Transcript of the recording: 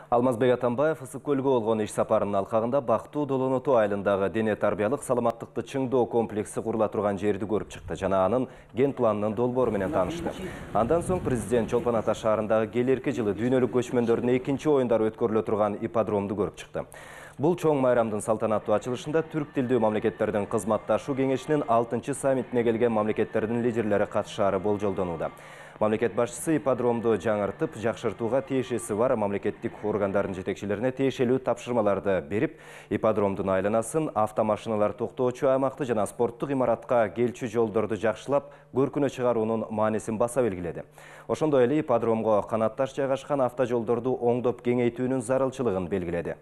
Алмазбек Атамбаев ысык көлгө болгон иш сапарынын алкагында Бактуу Долоноту айылындагы дене тарбиялык саламаттыкты чыңдоо комплекси курула турган жерди көрүп чыкты жана анын ген планынын долбоору менен таанышты. Андан соң президент Чолпон Ата шаарындагы келерки жылы дүйнөлүк көчмөндөрдүн экинчи оюндары өткөрүлө турган ипподромду көрүп чыкты. Бул чоң майрамдын салтанаттуу ачылышында түрк тилдүү мамлекеттердин кызматташуу кеңешинин 6-чы саммитине келген мамлекеттердин лидерлери катышаары болжолдонууда. Мамлекет башчысы ипподромду жаңыртып, жакшыртууга тиешеси бар мамлекеттик органдардын жетекчилерине тиешелүү тапшырмаларды берип, ипподромдун айланасын, автомашиналар токтоочу аймакты жана спорттук имаратка келчү жолдорду жакшылап, көркүнө чыгаруунун маанисин баса белгиледи. Ошондой эле ипподромго канатташ жайгашкан автожолдорду оңдоп кеңейтүүнүн зарылчылыгын белгиледи.